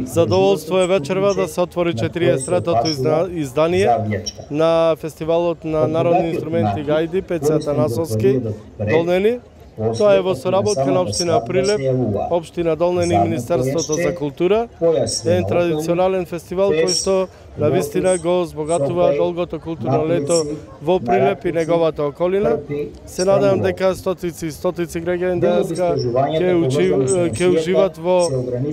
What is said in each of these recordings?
Задоволство е вечерва да се отвори 43-тото издание на фестивалот на народни инструменти гајди Пеце Атанасовски Долнени. Тоа е во соработка на општина Прилеп, општина Долнени и Министерството за култура. Е традиционален фестивал кој што навистина го збогатува долгото културно лето во Прилеп и неговата околина. Се надевам дека стотици граѓани денеска ќе уживат во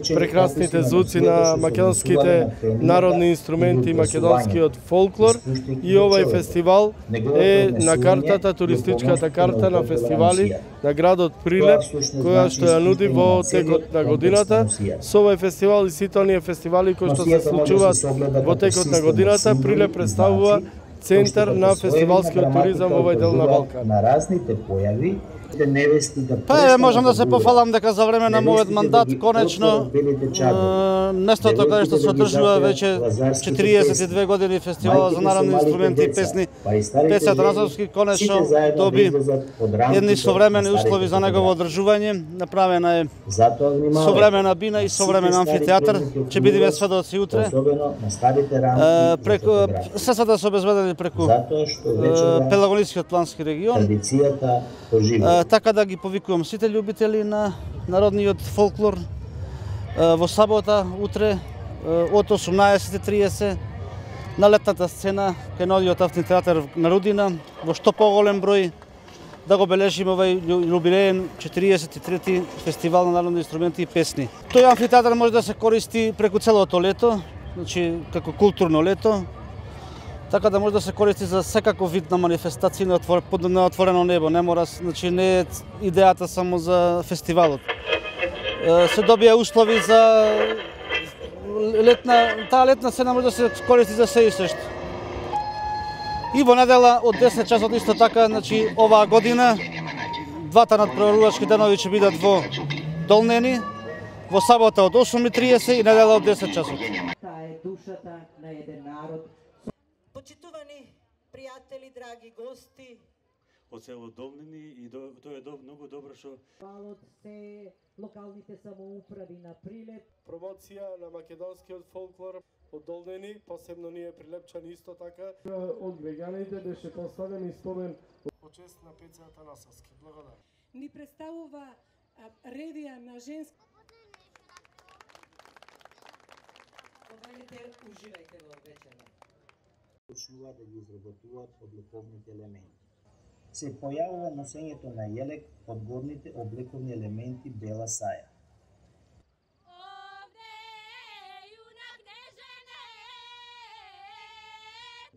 прекрасните звуци на македонските народни инструменти и македонскиот фолклор. И овај фестивал е на картата, туристичката карта на фестивали на градот Прилеп, која што ја нуди во текот на годината. Со овај фестивал и сите оние фестивали кои што се случуваат во текот на годината, Прилеп представува центар на фестивалскиот туризам во овој дел на Балкан. Па можам да се пофалам дека за време на мојот мандат конечно местото каде што се одржува веќе 42 години фестивалот за народни инструменти и песни Пеце Атанасовски конечно доби едни современи услови за негово одржување. Направена е современа бина и современ амфитеатар, ќе бидеме сведоци утре. Преку средствата се обезбедени преку Пелагонискиот плански регион. Така да ги повикувам сите љубители на народниот фолклор во сабота, утре, од 18:30 на летната сцена кај новиот амфитеатар на Рудина, во што поголем број да го бележиме овај јубилеен 43-ти фестивал на народни инструменти и песни. Тој амфитеатар може да се користи преку целото лето, значи како културно лето, така да може да се користи за секаков вид на манифестации на отворено небо. Не мора, значи не е идејата само за фестивалот. Се добија услови за таа летна сцена може да се користи за се и сешто. И во недела од 10 часот исто така, значи оваа година двата надпреварувачки денови ќе бидат во Долнени, во сабота од 8:30 и недела од 10 часот. Таа е душата на еден народ. Почитувани пријатели, драги гости од село Долнени, и тоа е многу добро што фестивалот се локалните самоуправи на Прилеп. Промоција на македонскиот фолклор од Долнени, посебно ние прилепчани исто така. Од граѓаните беше поставен и спомен во чест на Пеце Атанасовски. Благодарам. Ни представува ревија на женски. Уживајте во вечера. Почнува да ги изработуваат обликовните елементи. Се појавува носењето на јелек од горните облековни елементи бела саја.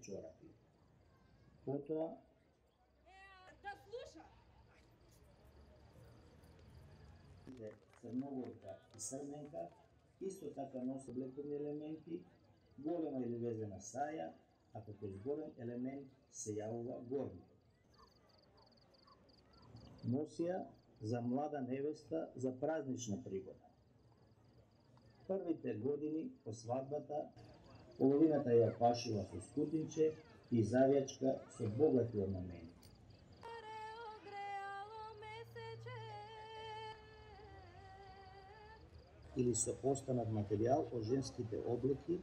Чорапи. Потоа црногорка и срменка исто така носи облековни елементи, голема или везена саја, а како изгорен елемент се јавува горник. Носија за млада невеста за празнична пригода. Првите години по свадбата половината ја пашила со скутинче и завјачка со богати орнаменти. Или со останат материјал од женските облеки